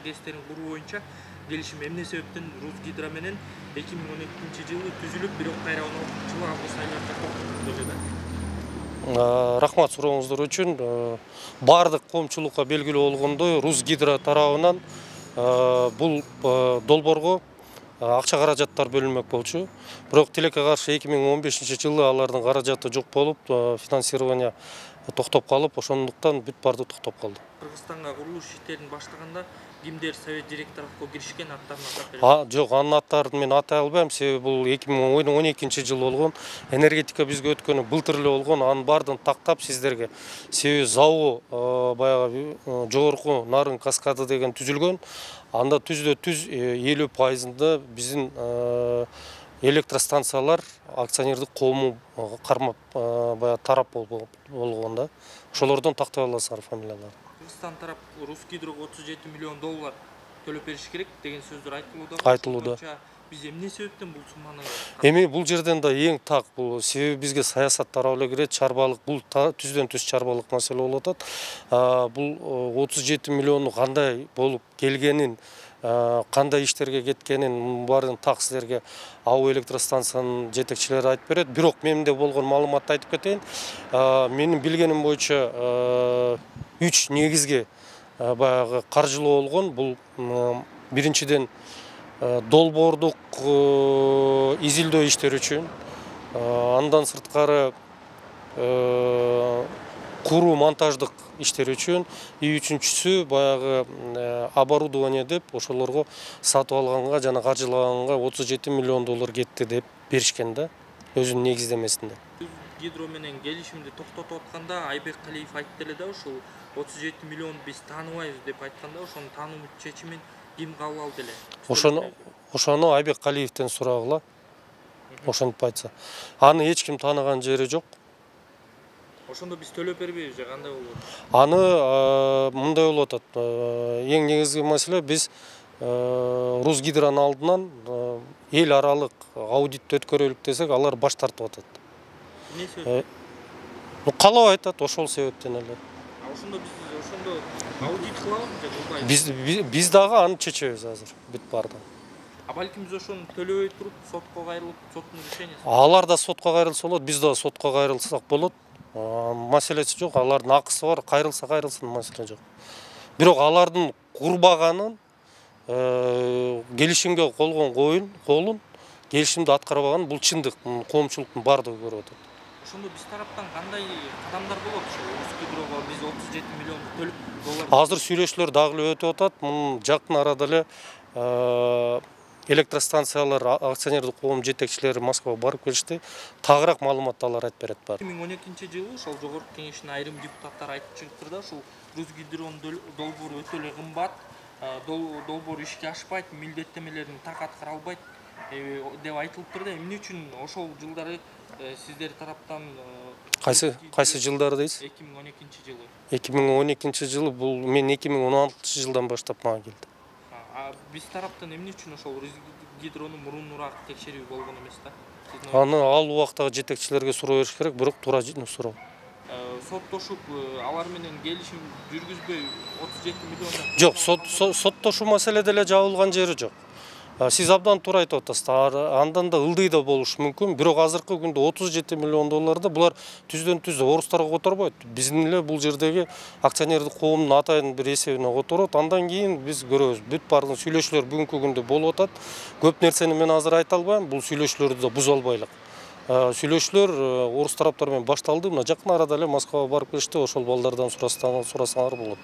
ТЭСтерин куруу боюнча келишим эмне себептен Русгидро менен 2012-жылы түзүлүп, бирок кайра 16-жылы август айында токтотулду эле да? Рахмат сурооңуздар үчүн. Бардык коомчулукка белгилүү болгондой, Русгидро тарабынан бул долбоорго акча каражаттар бөлүнмөк болчу. Бирок тилекке каршы 2015-жылы алардын каражаты жок болуп, финансирование токтоп калып, ошондуктан бүт барды токтоп калды. Кыргызстанга курулуш иштерин баштаганда кимдер совет директорлукка киришкен, аттарын атап берет? Жок, анын аттарын мен атай албайм, себеби бул 2012-жылы болгон, энергетика бизге өткөнү былтыр эле болгон, анын баардыгын тактап сиздерге. Себеби ЗАО баягы жогорку Нарын каскады деген түзүлгөн. Анда түздө-түз 50% биздин электростанциялар акционердик коому кармап баягы тарап болгон да. Ошолордон тактай аласыздар фамилияларды. Кыргызстан тарап Русгидрого $37 миллион төлөп бериш керек деген сөздөр айтылууда. Биз эмне себептен бул сумманы? Эми бул жерден да эң так бул себеби бизге саясат тарабы эле кирет, чарбалык, бул түздөн-түз чарбалык маселе болуп атат. Бул 37 миллиону кандай болуп келгенин, кандай иштерге кеткенин баарын так силерге АУ электростанциянын жетекчилери айтып берет. Бирок менде болгон маалыматты айтып кетейин. Менин билгеним боюнча 3 негизги баягы каржылоо болгон. Бул биринчиден долбоордук изилдөө иштери үчүн, андан сырткары куруу монтаждык иштери үчүн, үчүнчүсү баягы оборудование деп ошолорго сатып алганга жана каржылаганга $37 миллион кетти деп беришкен да, өзүнүн негиздемесинде. Гидро менен келишимди токтотуп атканда Айбек Калиев айтты эле да, ушул 37 миллион биз тааныбайбыз деп айтканда, ошонун таануу чечимин ким кабыл алды эле? Ошону Айбек Калиевден сурагыла. Ошентип айтса. Аны эч ким тааныган жери жок. Ошондо биз төлөп бербейбиз же кандай болот? Аны мындай болуп атат. Эң негизги маселе биз Русгидронун алдынан эл аралык аудитти өткөрөлүк десек, алар баш тартып атат. Эмне себептен? Калабай атат, ошол себептен эле. Ошондо биз аудит кылабызбы же кылбайбызбы? Биз дагы аны чечебиз азыр, бүт бардыгын. Балким биз ошону төлөбөй туруп, сотко кайрылып, соттун решениясы. Алар да сотко кайрылса болот, биз да сотко кайрылсак болот. Маселеси жок, алардын акысы бар, кайрылсын, маселе жок. Бирок алардын курбаганын, келишимге колун, келишимди аткарбаган бул чындык, коомчулуктун бардыгы көрүп атат. Ошондо биз тараптан кандай кадамдар болот? Русгидроого биз $37 миллион төлөп Азыр сүйлөшүүлөр дагы эле өтүп атат. Мунун жакын арада эле электростанциялар акционердик коом жетекчилери Москвага барып келишти. Тагыраак маалыматты алар айтып берет бар. 2012-жылы ошол жогорку кеңештин айрым депутаттары айтып чыгыптыр да, ушул Русгидронун долбоору өтө эле кымбат, долбоор ишке ашпайт, милдеттемелерин так аткара албайт деп айтылыптыр да. Эмне үчүн ошол жылдары сиздер тараптан Кайсы жылдары дейсиз? 2012-жылы. 2012-жылы бул мен 2016-жылдан баштап мага келди. Биз тараптан эмне үчүн ошол Русгидронун мурунураак текшерүү болгон эмес да? Аны ал убактагы жетекчилерге суроо бериш керек, бирок туура суроо. Соттошуп, алар менен келишим жүргүзбөй 37 миллион. Жок, соттошуу маселеде эле жабылган жери жок. Сиз абдан туура айтып атасыздар. Андан да ылдый да болушу мүмкүн. Бирок азыркы күндө $37 миллион булар түздөн-түз орустарга которбойт. Биздин эле бул жердеги акционердик коомдун атайын бир эсебине которот. Андан кийин биз көрөбүз. Бүт бардык сүйлөшүүлөр бүгүнкү күндө болуп атат. Көп нерсени мен азыр айта албайм. Бул сүйлөшүүлөрдү да буза албайлык. Сүйлөшүүлөр орус тараптары менен башталды. Мына жакын арада эле Москвага барып келишти. Ошол балдардан сурасаңар болот.